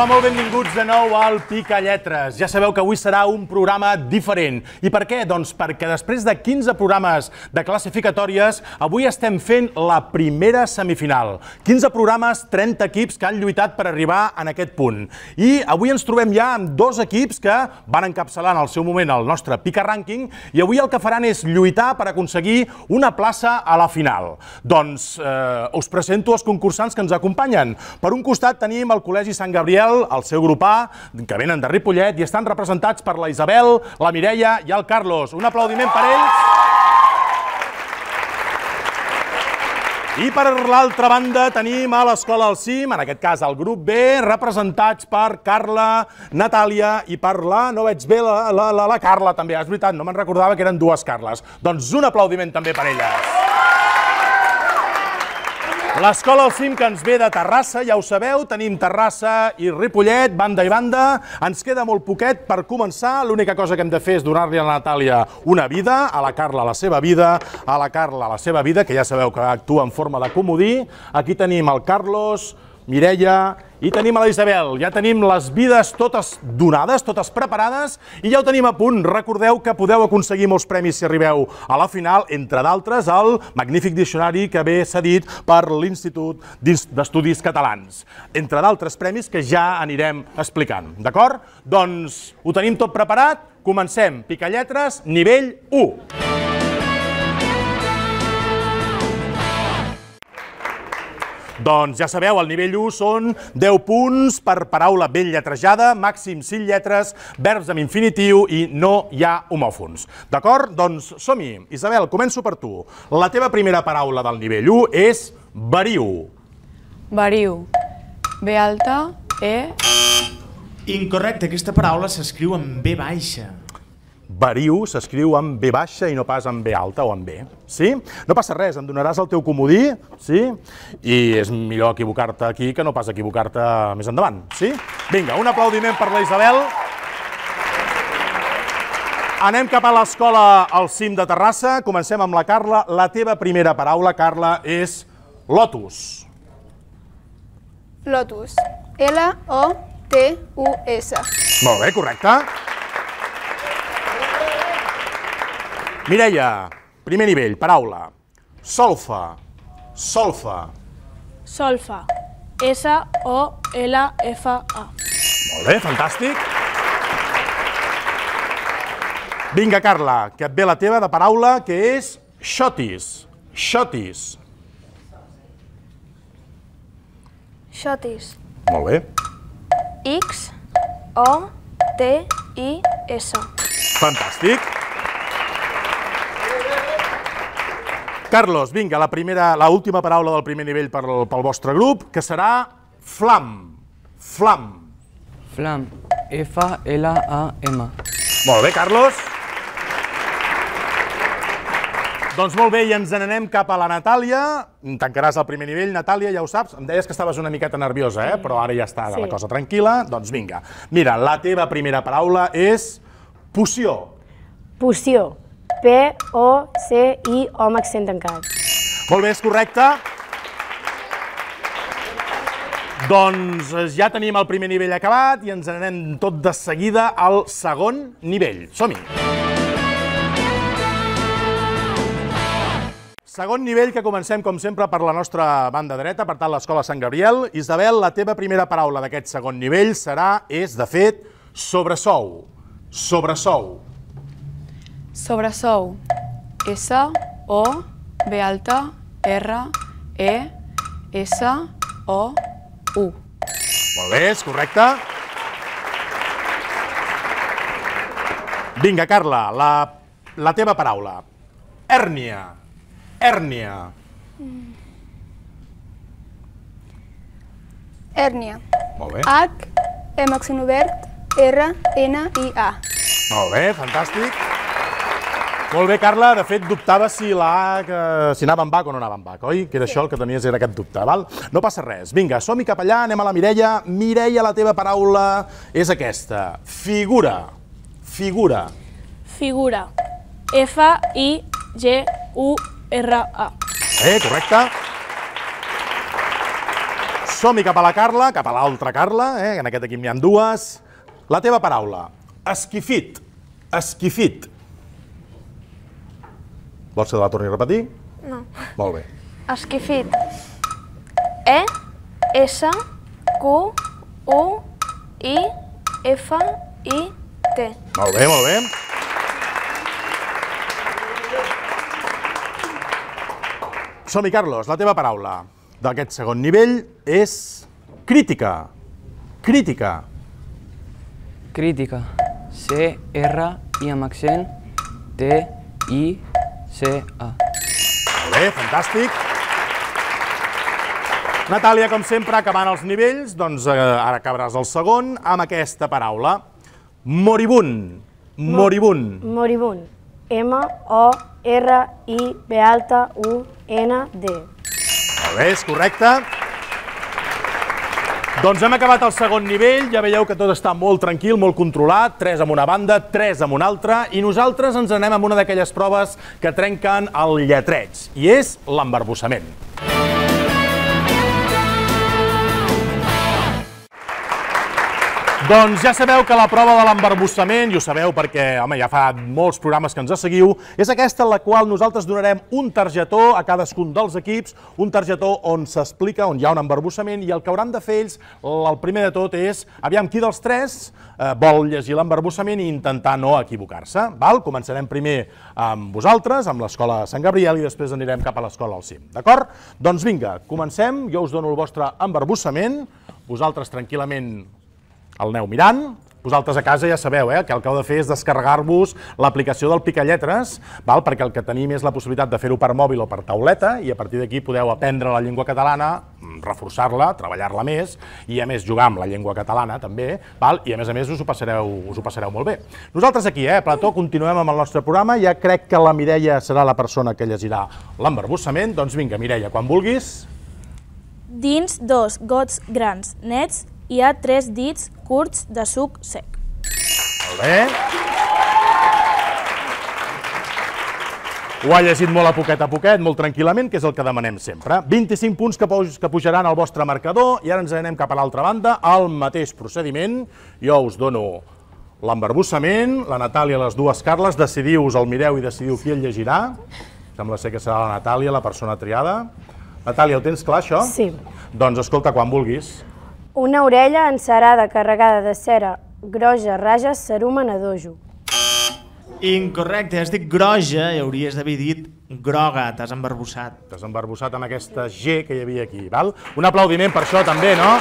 Hola, molt benvinguts de nou al Picalletres. Ja sabeu que avui serà un programa diferent. I per què? Doncs perquè després de 15 programes de classificatòries, avui estem fent la primera semifinal. 15 programes, 30 equips que han lluitat per arribar en aquest punt. I avui ens trobem ja amb dos equips que van encapçalar en el seu moment el nostre Pica Rànquing i avui el que faran és lluitar per aconseguir una plaça a la final. Doncs us presento els concursants que ens acompanyen. Per un costat tenim el Col·legi Sant Gabriel, el seu grup A, que venen de Ripollet i estan representats per la Isabel, la Mireia i el Carlos. Un aplaudiment per ells. I per l'altra banda tenim a l'Escola al Cim, en aquest cas el grup B, representats per Carla, Natàlia i per la, no veig bé, la Carla també, és veritat, no me'n recordava que eren dues Carles. Doncs un aplaudiment també per elles. L'Escola al Cim, que ens ve de Terrassa, ja ho sabeu, tenim Terrassa i Ripollet, banda i banda. Ens queda molt poquet per començar. L'única cosa que hem de fer és donar-li a la Natàlia una vida, a la Carla la seva vida, a la Carla la seva vida, que ja sabeu que actua en forma de comodí. Aquí tenim el Carlos, Mireia i tenim a la Isabel. Ja tenim les vides totes donades, totes preparades i ja ho tenim a punt. Recordeu que podeu aconseguir molts premis si arribeu a la final, entre d'altres el magnífic diccionari que ve cedit per l'Institut d'Estudis Catalans. Entre d'altres premis que ja anirem explicant, d'acord? Doncs ho tenim tot preparat, comencem. Picalletres, nivell 1. Doncs ja sabeu, el nivell 1 són 10 punts per paraula ben lletrejada, màxim 5 lletres, verbs amb infinitiu i no hi ha homòfons. D'acord? Doncs som-hi. Isabel, començo per tu. La teva primera paraula del nivell 1 és veriu. Veriu. B alta, E... Incorrecte, aquesta paraula s'escriu amb B baixa. Veriu s'escriu amb B baixa i no pas amb B alta o amb B. Sí? No passa res, em donaràs el teu comodí, sí? I és millor equivocar-te aquí que no pas equivocar-te més endavant, sí? Vinga, un aplaudiment per la Isabel. Anem cap a l'Escola al Cim de Terrassa. Comencem amb la Carla. La teva primera paraula, Carla, és lotus. Lotus. L-O-T-U-S. Molt bé, correcte. Mireia, primer nivell, paraula. Solfa. Solfa. Solfa. S-O-L-F-A. Molt bé, fantàstic. Vinga, Carla, que et ve la teva de paraula, que és xotis. Xotis. Xotis. Molt bé. X-O-T-I-S. Fantàstic. Carlos, vinga, la última paraula del primer nivell pel vostre grup, que serà flam. Flam. Flam. F-L-A-M. Molt bé, Carlos. Doncs molt bé, i ens n'anem cap a la Natàlia. Tancaràs el primer nivell, Natàlia, ja ho saps. Em deies que estaves una miqueta nerviosa, però ara ja està la cosa tranquil·la. Doncs vinga. Mira, la teva primera paraula és poció. Poció. P-O-C-I-O amb accent tancat. Molt bé, és correcte. Doncs ja tenim el primer nivell acabat i ens n'anem tot de seguida al segon nivell. Som-hi! Segon nivell, que comencem, com sempre, per la nostra banda dreta, per tant, l'Escola Sant Gabriel. Isabel, la teva primera paraula d'aquest segon nivell és, de fet, sobresou. Sobresou. Sobresou. S-O-B alta, R-E-S-O-U. Molt bé, és correcte. Vinga, Carla, la teva paraula. Hèrnia. Hèrnia. Hèrnia. Molt bé. H, M accent obert, R, N, I, A. Molt bé, fantàstic. Molt bé, Carla, de fet dubtava si la A, si anava amb H o no anava amb H, oi? Que era això el que tenies, era aquest dubte, val? No passa res. Vinga, som-hi cap allà, anem a la Mireia. Mireia, la teva paraula és aquesta. Figura. Figura. Figura. F-I-G-U-R-A. Correcte. som-hi cap a la Carla, cap a l'altra Carla, en aquest equip n'hi ha dues. La teva paraula, esquifit, esquifit. Vols que te la torni a repetir? No. Molt bé. Esquifit. E, S, Q, U, I, F, I, T. Molt bé, molt bé. Som-hi, Carlos, la teva paraula d'aquest segon nivell és crítica. Crítica. Crítica. C-R-I amb accent. T-I-C-A. Molt bé, fantàstic. Natàlia, com sempre, acabant els nivells, doncs ara acabaràs el segon amb aquesta paraula. Moribund. Moribund. Moribund. M-O-R-I-B-U-N-D. Molt bé, és correcte. Doncs hem acabat el segon nivell, ja veieu que tot està molt tranquil, molt controlat, 3 amb una banda, 3 amb una altra, i nosaltres ens anem amb una d'aquelles proves que trenquen el lletreig, i és l'embarbussament. Doncs ja sabeu que la prova de l'embarbussament, i ho sabeu perquè, home, ja fa molts programes que ens seguiu, és aquesta en la qual nosaltres donarem un targetó a cadascun dels equips, un targetó on s'explica, on hi ha un embarbussament, i el que hauran de fer ells, el primer de tot és, aviam, qui dels tres vol llegir l'embarbussament i intentar no equivocar-se. Començarem primer amb vosaltres, amb l'escola Sant Gabriel, i després anirem cap a l'escola al cim, d'acord? Doncs vinga, comencem, jo us dono el vostre embarbussament, vosaltres tranquil·lament el aneu mirant. Vosaltres a casa ja sabeu que el que heu de fer és descarregar-vos l'aplicació del Picalletres, perquè el que tenim és la possibilitat de fer-ho per mòbil o per tauleta, i a partir d'aquí podeu aprendre la llengua catalana, reforçar-la, treballar-la més, i a més jugar amb la llengua catalana també, i a més us ho passareu molt bé. Nosaltres aquí, Plató, continuem amb el nostre programa, ja crec que la Mireia serà la persona que llegirà l'embarbussament, doncs vinga, Mireia, quan vulguis. Dins 2 gots grans nets hi ha 3 dits curts de suc sec. Molt bé. Ho ha llegit molt a poquet, molt tranquil·lament, que és el que demanem sempre. 25 punts que pujaran al vostre marcador, i ara ens anem cap a l'altra banda, al mateix procediment. Jo us dono l'embarbussament, la Natàlia, les dues Carles, decidiu-vos, el mireu i decidiu qui el llegirà. Sembla ser que serà la Natàlia, la persona triada. Natàlia, ho tens clar, això? Sí. Doncs escolta, quan vulguis. Una orella encerada carregada de cera groja rages cerumen a dojo. Incorrecte, has dit groja i hauries d'haver dit groga, t'has embarbussat. T'has embarbussat amb aquesta G que hi havia aquí, val? Un aplaudiment per això també, no?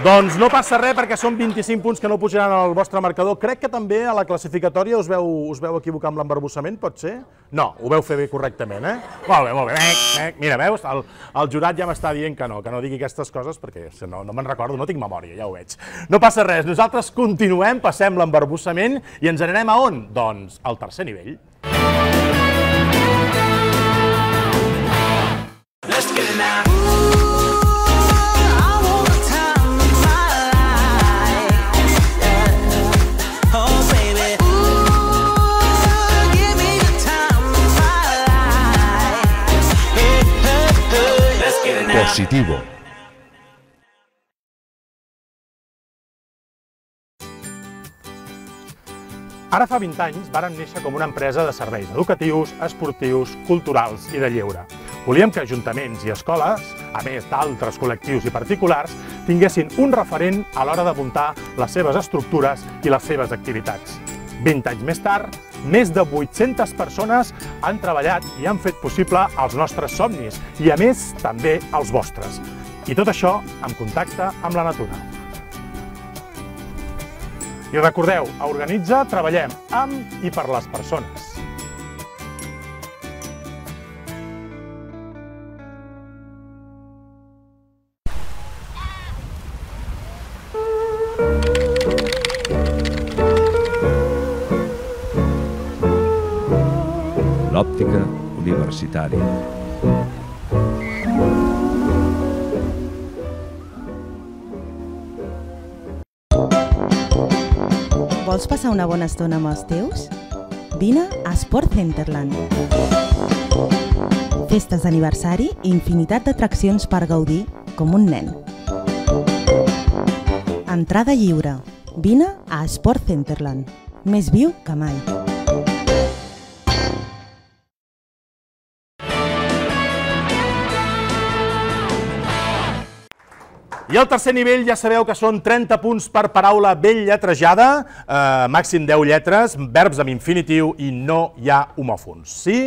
Doncs no passa res perquè són 25 punts que no pujaran al vostre marcador. Crec que també a la classificatòria us veu equivocar amb l'embarbussament, pot ser? No, ho veu fer bé correctament, Molt bé, molt bé. Mira, veus? El jurat ja m'està dient que no digui aquestes coses perquè no me'n recordo, no tinc memòria, ja ho veig. No passa res, nosaltres continuem, passem l'embarbussament i ens n'anem a on? Doncs al tercer nivell. Positivo. Ara fa 20 anys vàrem néixer com una empresa de serveis educatius, esportius, culturals i de lleure. Volíem que ajuntaments i escoles, a més d'altres col·lectius i particulars, tinguessin un referent a l'hora de muntar les seves estructures i les seves activitats. 20 anys més tard, més de 800 persones han treballat i han fet possible els nostres somnis i, a més, també els vostres. I tot això en contacte amb la natura. I recordeu, a Organitza treballem amb i per les persones. L'òptica universitària. Vols passar una bona estona amb els teus? Vine a Sport Centerland. festes d'aniversari i infinitat d'atraccions per gaudir com un nen. Entrada lliure. Vine a Sport Centerland. Més viu que mai. I el tercer nivell ja sabeu que són 30 punts per paraula ben lletrejada, màxim 10 lletres, verbs amb infinitiu i no hi ha homòfons. Sí?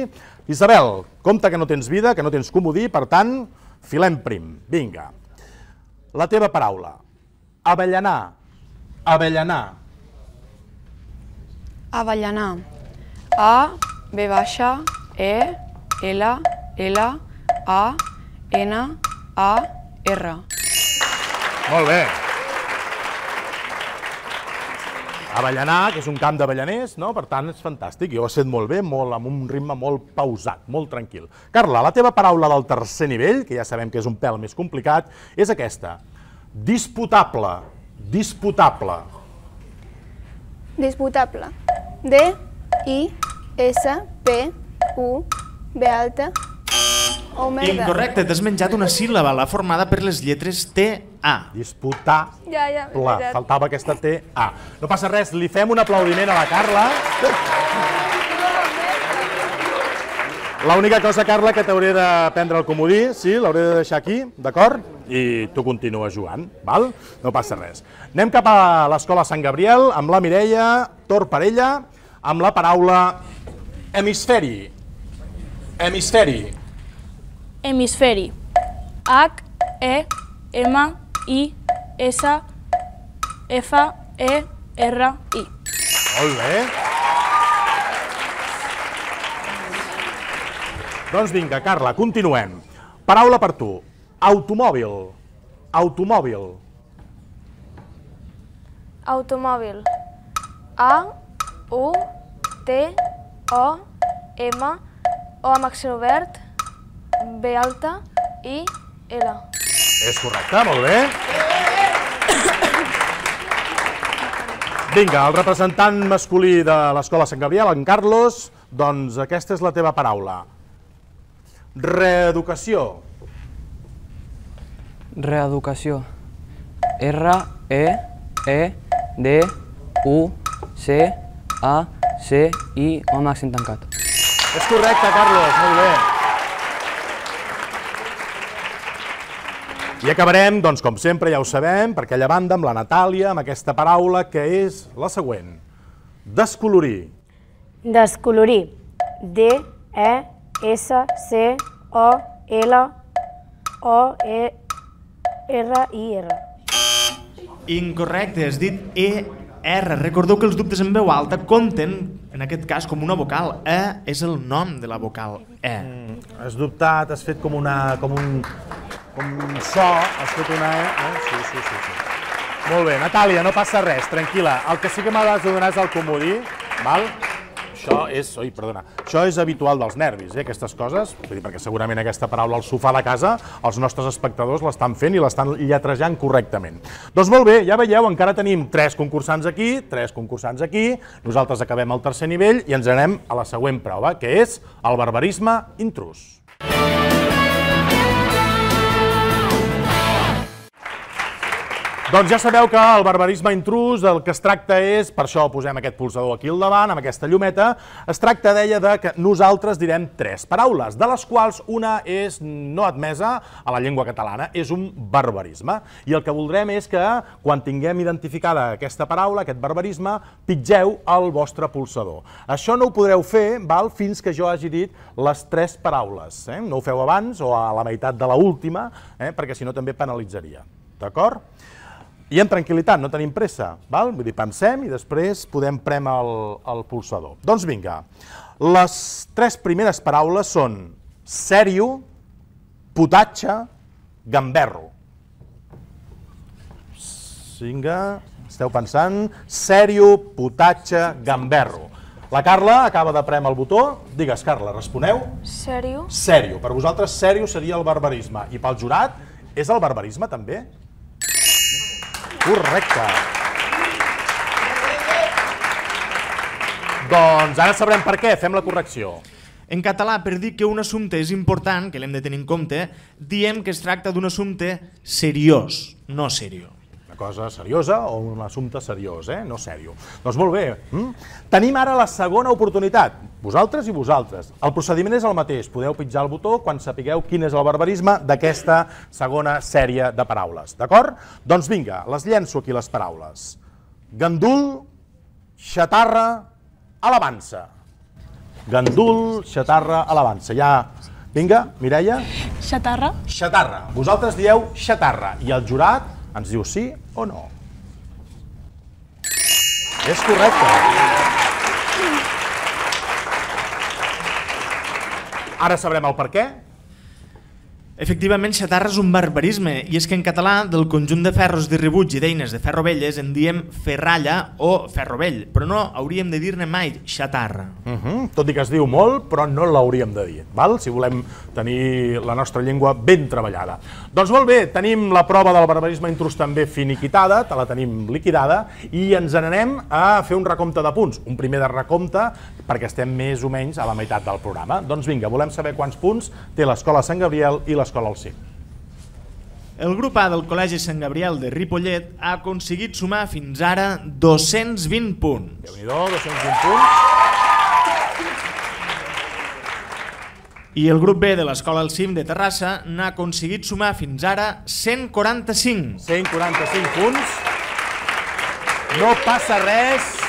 Isabel, compte que no tens vida, que no tens comodí, per tant, filem prim. Vinga. La teva paraula. Avellanar. Avellanar. Avellanar. A, B baixa, E, L, L, A, N, A, R. Molt bé. Avellanar, que és un camp d'avellaners, no? Per tant, és fantàstic. Jo ho he fet molt bé, amb un ritme molt pausat, molt tranquil. Carla, la teva paraula del tercer nivell, que ja sabem que és un pèl més complicat, és aquesta. Disputable. Disputable. Disputable. D, I, S, P, U, B alta, O merda. Incorrecte, t'has menjat una síl·laba, la formada per les lletres T-A. Disputable. Ja, Faltava aquesta T-A. No passa res, li fem un aplaudiment a la Carla. L'única cosa, Carla, que t'hauré de prendre el comodí, sí, l'hauré de deixar aquí, d'acord? I tu continues jugant, val? No passa res. Anem cap a l'Escola Sant Gabriel, amb la Mireia, torn per ella, amb la paraula hemisferi. Hemisferi. Hemisferi. H, E, M, I, S, F, E, R, I. Molt bé. Doncs vinga, Carla, continuem. Paraula per tu. Automòbil. Automòbil. Automòbil. A, U, T, O, M, O amb accent obert, B alta, I, L. És correcte, molt bé. Vinga, el representant masculí de l'Escola Sant Gabriel, en Carlos, doncs aquesta és la teva paraula. Reeducació. Reeducació. R, E, D, U, C, A, C, I, O amb accent tancat. És correcte, Carlos, molt bé. I acabarem, doncs, com sempre, ja ho sabem, per aquella banda, amb la Natàlia, amb aquesta paraula, que és la següent. Descolorir. Descolorir. D, E, S, C, O, L, O, E, R, I, R. Incorrecte, has dit E-R. Recordeu que els dubtes en veu alta compten, en aquest cas, com una vocal. E és el nom de la vocal E. Has dubtat, has fet com un so, has fet una E. Sí. Molt bé, Natàlia, no passa res, tranquil·la. El que sí que m'has de donar és el comodí, val? Això és habitual dels nervis, aquestes coses, perquè segurament aquesta paraula al sofà de casa els nostres espectadors l'estan fent i l'estan lletrejant correctament. Doncs molt bé, ja veieu, encara tenim 3 concursants aquí, 3 concursants aquí, nosaltres acabem el tercer nivell i ens anem a la següent prova, que és el barbarisme intrus. Doncs ja sabeu que el barbarisme intrus el que es tracta és, per això posem aquest pulsador aquí al davant, amb aquesta llumeta, es tracta, deia, de que nosaltres direm 3 paraules, de les quals una és no admesa a la llengua catalana, és un barbarisme. I el que voldrem és que, quan tinguem identificada aquesta paraula, aquest barbarisme, pitgeu el vostre pulsador. Això no ho podreu fer fins que jo hagi dit les 3 paraules. No ho feu abans o a la meitat de l'última, perquè si no també penalitzaria. D'acord? I amb tranquil·litat, no tenim pressa, vull dir, pensem i després podem prémer el pulsador. Doncs vinga, les 3 primeres paraules són sèrio, potatge, gamberro. Vinga, esteu pensant, sèrio, potatge, gamberro. La Carla acaba de prémer el botó. Digues, Carla, responeu. Sèrio. Sèrio. Per vosaltres, sèrio seria el barbarisme. I pel jurat, és el barbarisme també? Correcte. Doncs ara sabrem per què, fem la correcció. En català, per dir que un assumpte és important, que l'hem de tenir en compte, diem que es tracta d'un assumpte seriós, no seriós. Una cosa seriosa o un assumpte seriós, no sèrio. Doncs molt bé. Tenim ara la segona oportunitat, vosaltres i vosaltres. El procediment és el mateix, podeu pitjar el botó quan sapigueu quin és el barbarisme d'aquesta segona sèrie de paraules, d'acord? Doncs vinga, les llenço aquí les paraules. Gandul, xatarra, alabança. Gandul, xatarra, alabança. Ja, vinga, Mireia. Xatarra. Xatarra. Vosaltres dieu xatarra i el jurat ens diu sí o no. És correcte. Ara sabrem el per què. Efectivament, xatarra és un barbarisme, i és que en català del conjunt de ferros de rebuig i d'eines de ferro velles en diem ferralla o ferro vell, però no hauríem de dir-ne mai xatarra. Tot i que es diu molt, però no l'hauríem de dir, si volem tenir la nostra llengua ben treballada. Doncs molt bé, tenim la prova del barbarisme intrus també finiquitada, te la tenim liquidada, i ens n'anem a fer un recompte de punts, un primer de recompte, perquè estem més o menys a la meitat del programa. Doncs vinga, volem saber quants punts té l'Escola Sant Gabriel i l'Escola al Cim. El grup A del Col·legi Sant Gabriel de Ripollet ha aconseguit sumar fins ara 220 punts. Déu-n'hi-do, 220 punts. I el grup B de l'Escola al Cim de Terrassa n'ha aconseguit sumar fins ara 145. 145 punts. No passa res.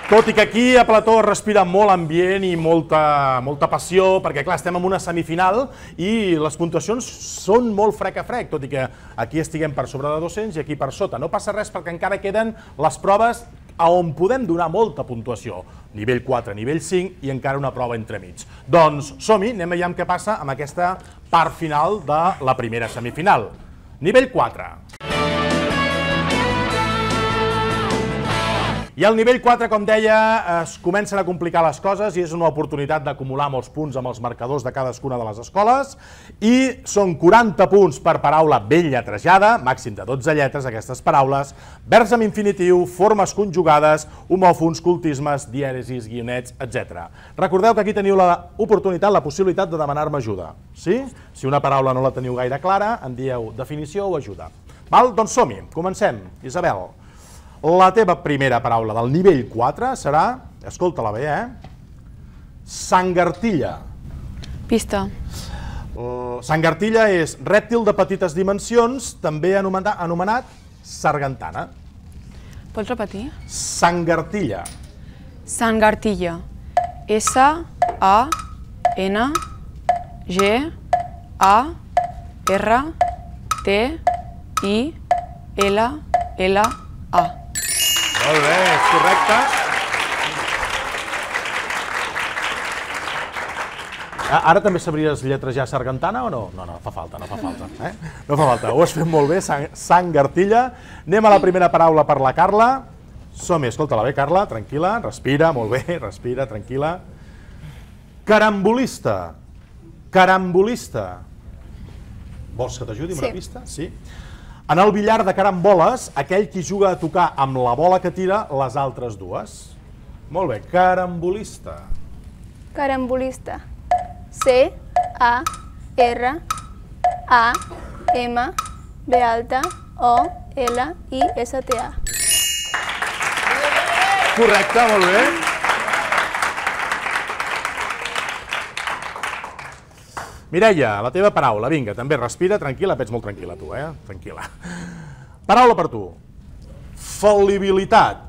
Tot i que aquí a Plató es respira molt ambient i molta passió, perquè clar, estem en una semifinal i les puntuacions són molt frec a frec, tot i que aquí estiguem per sobre de 200 i aquí per sota. No passa res perquè encara queden les proves a on podem donar molta puntuació. Nivell 4, nivell 5 i encara una prova entremig. Doncs som-hi, anem a veure què passa amb aquesta part final de la primera semifinal. Nivell 4. I al nivell 4, com deia, es comencen a complicar les coses i és una oportunitat d'acumular molts punts amb els marcadors de cadascuna de les escoles i són 40 punts per paraula ben lletrejada, màxim de 12 lletres aquestes paraules, verbs amb infinitiu, formes conjugades, homòfons, cultismes, dièresis, guionets, etc. Recordeu que aquí teniu l'oportunitat, la possibilitat de demanar-me ajuda. Sí? Si una paraula no la teniu gaire clara, en dieu definició o ajuda. Doncs som-hi, comencem. Isabel. La teva primera paraula del nivell 4 serà, escolta-la bé, sangartilla. Pista. Sangartilla és rèptil de petites dimensions, també anomenat sargantana. Pots repetir? Sangartilla. Sangartilla. S-A-N-G-A-R-T-I-L-L-A. Molt bé, és correcte. Ara també sabries lletrejar sargantana o no? No, fa falta, no fa falta. No fa falta, ho has fet molt bé, sangartilla. Anem a la primera paraula per la Carla. Som-hi, escolta-la bé, Carla, tranquil·la, respira, molt bé, respira, tranquil·la. Carambolista. Carambolista. Vols que t'ajudi amb una pista? Sí. En el billar de caramboles, aquell qui juga a tocar amb la bola que tira les altres dues. Molt bé, carambolista. Carambolista. C-A-R-A-M-B-O-L-I-S-T-A. Correcte, molt bé. Mireia, la teva paraula, vinga, també respira, tranquil·la, ets molt tranquil·la tu, tranquil·la. Paraula per tu. Fal·libilitat.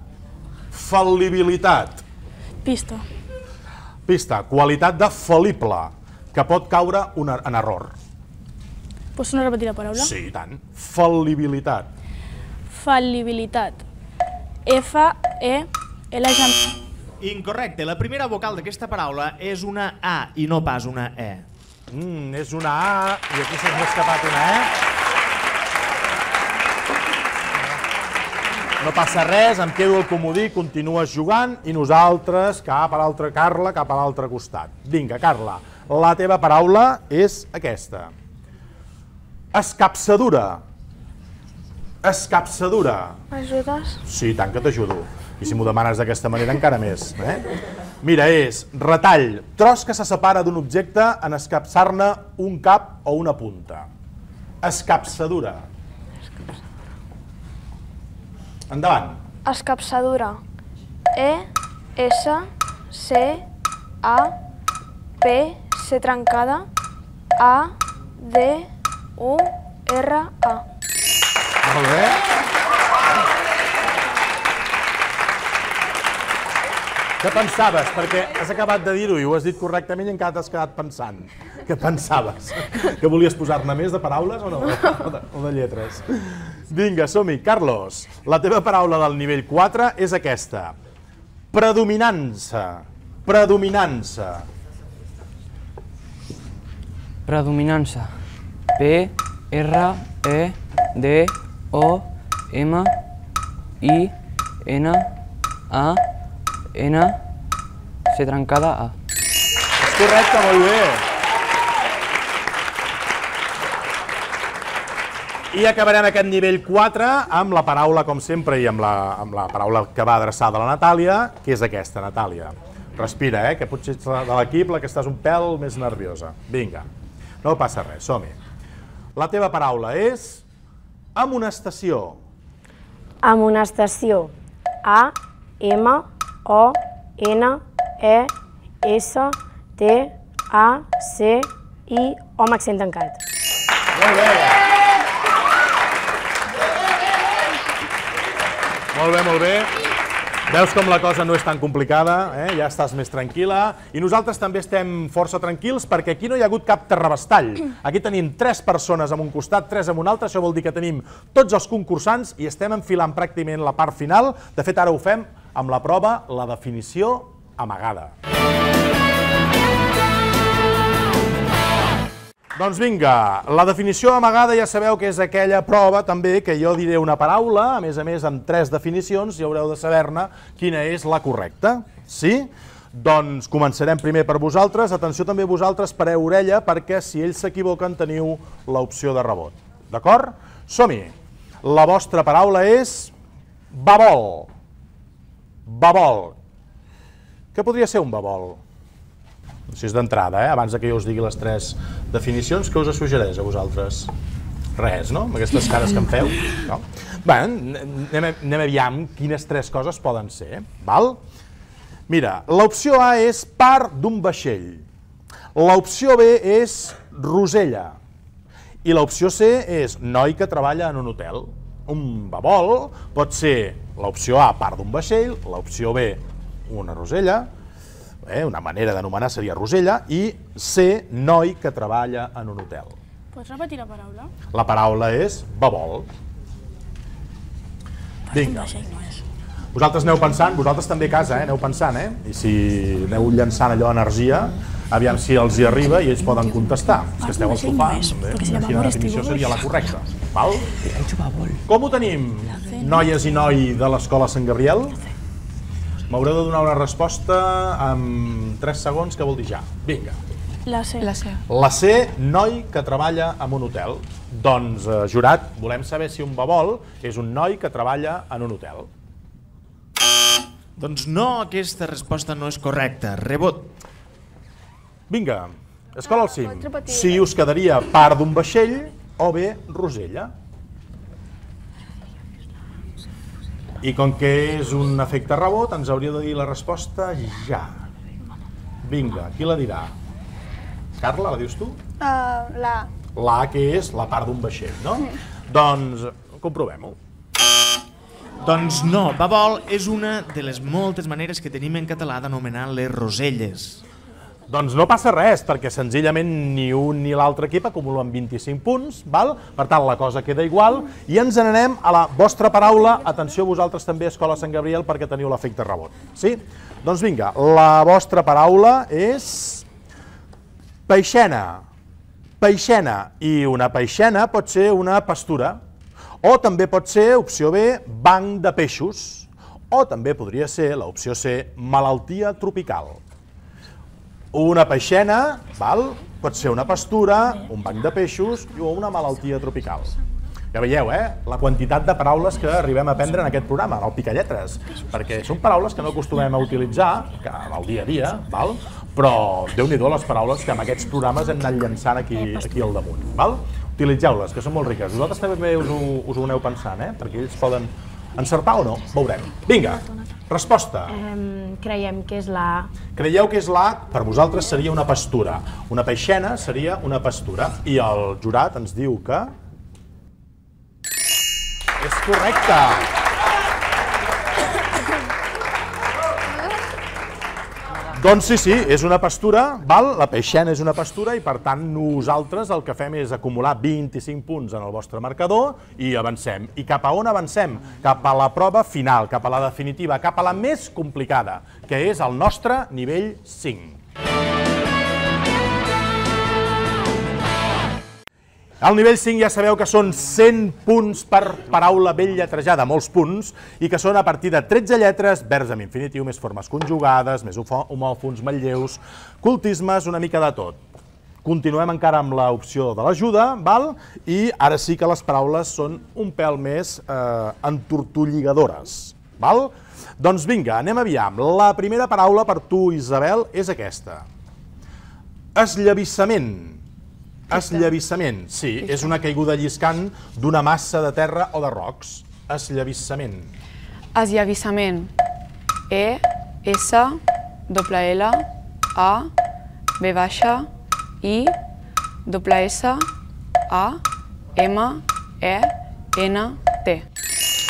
Fal·libilitat. Pista. Pista, qualitat de fal·lible, que pot caure en error. Pots no repetir la paraula? Sí, i tant. Fal·libilitat. Fal·libilitat. F-E-L... Incorrecte, la primera vocal d'aquesta paraula és una A i no pas una E. És una A, i aquí s'ha escapat una E. No passa res, em quedo al comodí, continues jugant i nosaltres cap a l'altre, Carla, cap a l'altre costat. Vinga, Carla, la teva paraula és aquesta. Escapçadura. Escapçadura. M'ajudes? Sí, tant que t'ajudo. I si m'ho demanes d'aquesta manera encara més. Mira, és retall, tros que se separa d'un objecte en escapçar-ne un cap o una punta. Escapçadura. Endavant. Escapçadura. E-S-C-A-P, C trencada, A-D-U-R-A. Molt bé. Què pensaves? Perquè has acabat de dir-ho i ho has dit correctament i encara t'has quedat pensant. Què pensaves? Que volies posar-ne més de paraules o no? O de lletres? Vinga, som-hi. Carlos, la teva paraula del nivell 4 és aquesta. Predominança. Predominança. Predominança. P-R-E-D-O-M-I-N-A-N, C trencada, A. És correcte, molt bé. I acabarem aquest nivell 4 amb la paraula, com sempre, i amb la paraula que va adreçada a la Natàlia, que és aquesta, Natàlia. Respira, que potser ets de l'equip la que estàs un pèl més nerviosa. Vinga, no passa res, som-hi. La teva paraula és amonestació. Amonestació. A-M-O-N-E-S-T-A-C-I, O amb accent tancat. Molt bé. Molt bé, molt bé. Veus com la cosa no és tan complicada, ja estàs més tranquil·la. I nosaltres també estem força tranquils perquè aquí no hi ha hagut cap terrabastall. Aquí tenim 3 persones en un costat, 3 en un altre. Això vol dir que tenim tots els concursants i estem enfilant pràcticament la part final. De fet, ara ho fem amb la prova, la definició amagada. Doncs vinga, la definició amagada ja sabeu que és aquella prova també que jo diré una paraula, a més amb 3 definicions, i haureu de saber-ne quina és la correcta. Sí? Doncs començarem primer per vosaltres. Atenció també vosaltres, pareu orella, perquè si ells s'equivoquen teniu l'opció de rebot. D'acord? Som-hi! La vostra paraula és babol. Babol. Què podria ser un babol? Així és d'entrada, abans que jo us digui les 3 definicions, què us suggereix a vosaltres? Res, no? Amb aquestes cares que em feu? No? Bé, anem aviam quines 3 coses poden ser, val? Mira, l'opció A és part d'un vaixell, l'opció B és rosella i l'opció C és noi que treballa en un hotel. Un babol pot ser l'opció A, part d'un vaixell, l'opció B, una rosella, una manera d'anomenar seria rosella, i C, noi que treballa en un hotel. Pots repetir la paraula? La paraula és babol. Vinga. Vosaltres aneu pensant, vosaltres també a casa, aneu pensant, i si aneu llançant allò energia, aviam si els hi arriba i ells poden contestar. És que esteu al sofà, quina definició seria la correcta. Com ho tenim, noies i noi de l'Escola Sant Gabriel? M'haureu de donar una resposta en 3 segons, que vol dir ja. Vinga. La C. La C. La C, noi que treballa en un hotel. Doncs, jurat, volem saber si un babol és un noi que treballa en un hotel. Doncs no, aquesta resposta no és correcta. Rebot. Vinga, escola al cim. Si us quedaria part d'un vaixell o bé rosella. I com que és un efecte rebot, ens hauria de dir la resposta ja. Vinga, qui la dirà? Carla, la dius tu? La. La que és la part d'un vaixell, no? Doncs comprovem-ho. Doncs no, babol és una de les moltes maneres que tenim en català d'anomenar les roselles. Doncs no passa res, perquè senzillament ni un ni l'altre equip acumulen 25 punts, val? Per tant, la cosa queda igual, i ens n'anem a la vostra paraula. Atenció vosaltres també, Escola Sant Gabriel, perquè teniu l'efecte rebot. Sí? Doncs vinga, la vostra paraula és peixena. Peixena. I una peixena pot ser una pastura, o també pot ser, opció B, banc de peixos, o també podria ser, l'opció C, malaltia tropical. Una peixena, val? Pot ser una pastura, un banc de peixos o una malaltia tropical. Ja veieu, la quantitat de paraules que arribem a aprendre en aquest programa, en el Picalletres, perquè són paraules que no acostumem a utilitzar al dia a dia, però Déu-n'hi-do les paraules que en aquests programes hem anat llançant aquí al damunt. Utilitzeu-les, que són molt riques. Vosaltres també us ho aneu pensant, perquè ells poden encertar o no, veurem. Vinga, resposta. Creiem que és la A. Creieu que és la A? Per vosaltres seria una pastura. Una peixena seria una pastura. I el jurat ens diu que... és correcte! Doncs sí, és una pastura, la peixena és una pastura i per tant nosaltres el que fem és acumular 25 punts en el vostre marcador i avancem. I cap a on avancem? Cap a la prova final, cap a la definitiva, cap a la més complicada, que és el nostre nivell 5. Al nivell 5 ja sabeu que són 100 punts per paraula ben lletrejada, molts punts, i que són a partir de 13 lletres, verbs amb infinitiu, més formes conjugades, més homòfons, manlleus, cultismes, una mica de tot. Continuem encara amb l'opció de l'ajuda, i ara sí que les paraules són un pèl més entortolligadores. Doncs vinga, anem aviam. La primera paraula per tu, Isabel, és aquesta. Esllavissament. Esllavissament, sí, és una caiguda lliscant d'una massa de terra o de rocs. Esllavissament. Esllavissament. E, S, L, A, B baixa, I, S, A, M, E, N, T.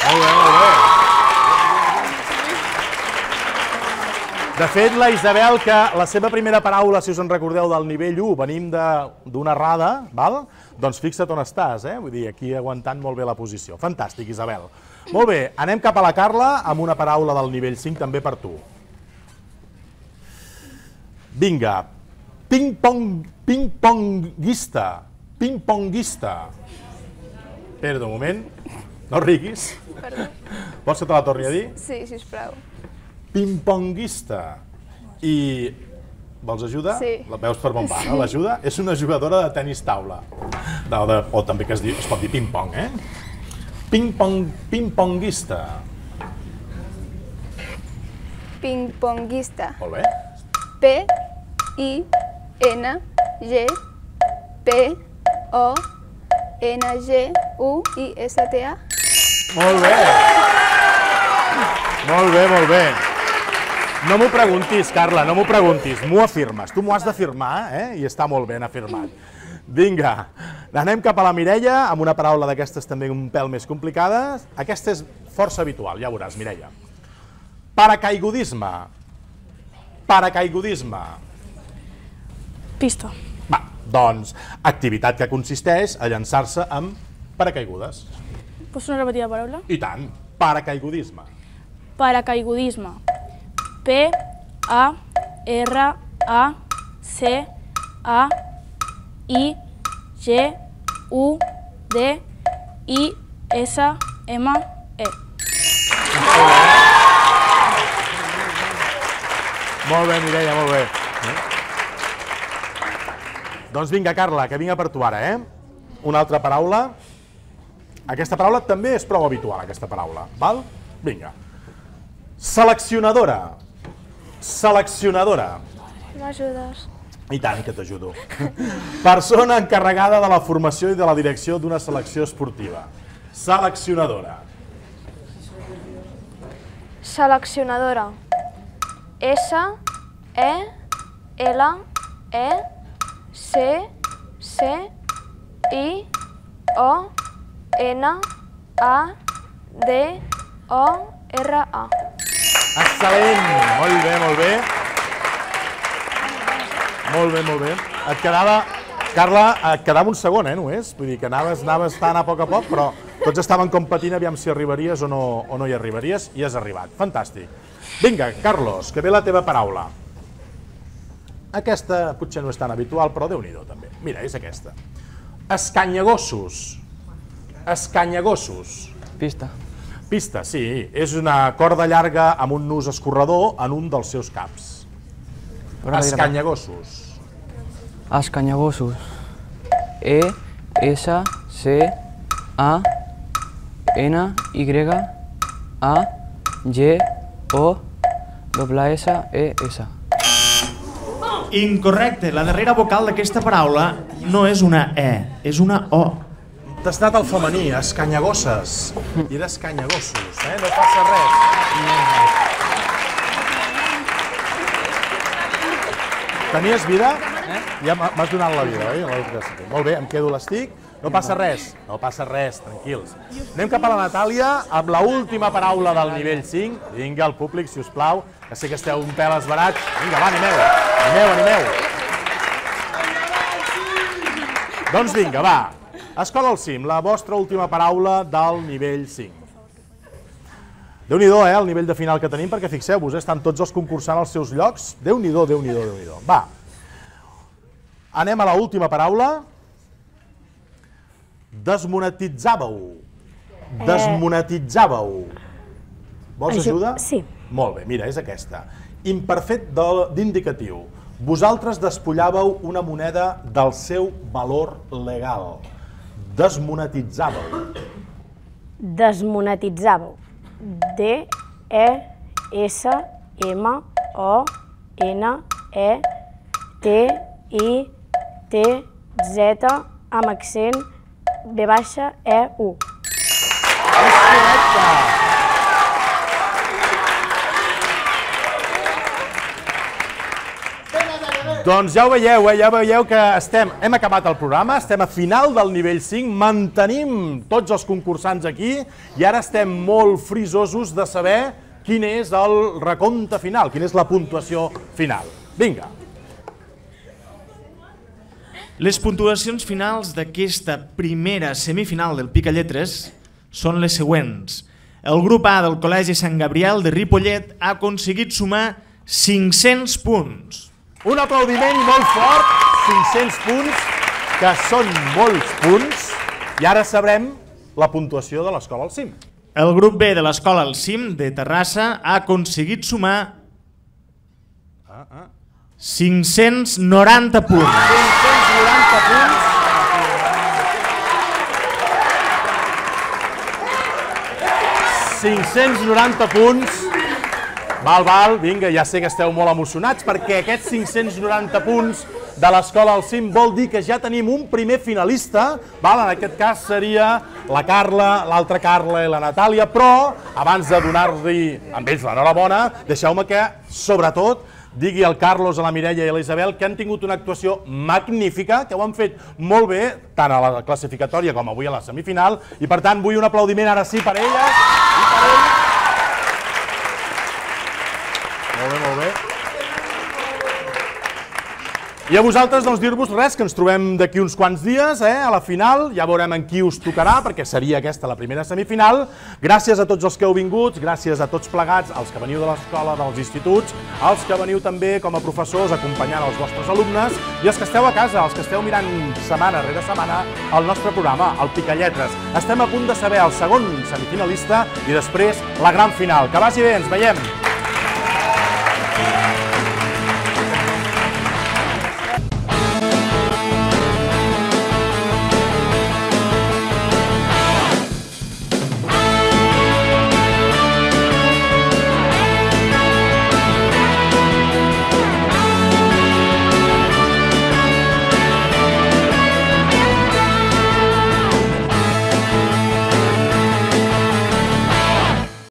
Molt bé, molt bé. De fet, la Isabel, que la seva primera paraula, si us en recordeu, del nivell 1, venim d'una errada, doncs fixa't on estàs, vull dir, aquí aguantant molt bé la posició. Fantàstic, Isabel. Molt bé, anem cap a la Carla amb una paraula del nivell 5 també per tu. Vinga, ping-ponguista. Ping-ponguista. Espera't un moment, no riguis. Vols que te la torni a dir? Sí, sisplau. Ping-ponguista. I vols ajuda? Sí. La veus per on va, no? L'ajuda és una jugadora de tenis taula. O també que es pot dir ping-pong, Ping-ponguista. Ping-ponguista. Molt bé. P-I-N-G-P-O-N-G-U-I-S-T-A. Molt bé. Molt bé, molt bé. No m'ho preguntis, Carla, no m'ho preguntis, m'ho afirmes. Tu m'ho has d'afirmar, i està molt ben afirmat. Vinga, anem cap a la Mireia, amb una paraula d'aquestes també un pèl més complicades. Aquesta és força habitual, ja veuràs, Mireia. Paracaigudisme. Paracaigudisme. Pista. Va, doncs, activitat que consisteix a llançar-se amb paracaigudes. Pots repetir la paraula? I tant, paracaigudisme. Paracaigudisme. P-A-R-A-C-A-I-G-U-D-I-S-M-E. Molt bé, Mireia, molt bé. Doncs vinga, Carla, que vinga per tu ara, Una altra paraula. Aquesta paraula també és prou habitual, aquesta paraula, val? Vinga. Seleccionadora. Seleccionadora. M'ajudes? I tant que t'ajudo. Persona encarregada de la formació i de la direcció d'una selecció esportiva. Seleccionadora. Seleccionadora. S-E-L-E-C-C-I-O-N-A-D-O-R-A. Excel·lent! Molt bé, molt bé. Molt bé, molt bé. Et quedava, Carla, et quedava un segon, només? Vull dir que anaves tant a poc, però tots estaven competint aviam si arribaries o no hi arribaries, i has arribat. Fantàstic. Vinga, Carlos, que ve la teva paraula. Aquesta potser no és tan habitual, però Déu-n'hi-do també. Mira, és aquesta. Escanyagossos. Escanyagossos. Pista. Pista, sí. És una corda llarga amb un nus escorredor en un dels seus caps. Escanyagossos. Escanyagossos. E-S-C-A N, Y, A, G, O, S, E, S. Incorrecte, la darrera vocal d'aquesta paraula no és una E, és una O. T'has anat al femení, escanyagosses. I eres canyagossos, no passa res. Tenies vida? Ja m'has donat la vida, oi? Molt bé, em quedo l'estic. No passa res, tranquils. Anem cap a la Natàlia amb l'última paraula del nivell 5. Vinga, el públic, si us plau, que sé que esteu un pèl esverats. Vinga, va, animeu. Doncs vinga, va. Escola al cim, la vostra última paraula del nivell 5. Déu-n'hi-do, el nivell de final que tenim, perquè fixeu-vos, estan tots els concursants als seus llocs. Déu-n'hi-do. Va. Anem a l'última paraula. Desmonetitzàveu. Vols ajuda? Sí. Molt bé, mira, és aquesta. Imperfet d'indicatiu. Vosaltres despullàveu una moneda del seu valor legal. Desmonetitzàveu. D-E-S-M-O-N-E-T-I-T-Z amb accent B-E-U. És correcte! Doncs ja ho veieu que hem acabat el programa, estem a final del nivell 5, mantenim tots els concursants aquí i ara estem molt frisosos de saber quin és el recompte final, quina és la puntuació final. Vinga. Les puntuacions finals d'aquesta primera semifinal del Picalletres són les següents. El grup A del Col·legi Sant Gabriel de Ripollet ha aconseguit sumar 500 punts. Un aplaudiment molt fort, 500 punts, que són molts punts, i ara sabrem la puntuació de l'Escola al Cim. El grup B de l'Escola al Cim de Terrassa ha aconseguit sumar 590 punts. 590 punts. Val, vinga, ja sé que esteu molt emocionats perquè aquests 590 punts de l'Escola al Cim vol dir que ja tenim un primer finalista, en aquest cas seria la Carla, l'altra Carla i la Natàlia, però abans de donar-li amb ells l'enhorabona, deixeu-me que, sobretot, digui al Carlos, a la Mireia i a la Isabel que han tingut una actuació magnífica, que ho han fet molt bé, tant a la classificatòria com avui a la semifinal, i per tant vull un aplaudiment ara sí per elles i per ells. Molt bé. I a vosaltres doncs dir-vos res, que ens trobem d'aquí uns quants dies a la final, ja veurem en qui us tocarà, perquè seria aquesta la primera semifinal. Gràcies a tots els que heu vingut, gràcies a tots plegats, als que veniu de l'escola, dels instituts, als que veniu també com a professors acompanyant els vostres alumnes, i els que esteu a casa, els que esteu mirant setmana rere setmana el nostre programa, el Picalletres. Estem a punt de saber el segon semifinalista i després la gran final. Que vagi bé, ens veiem!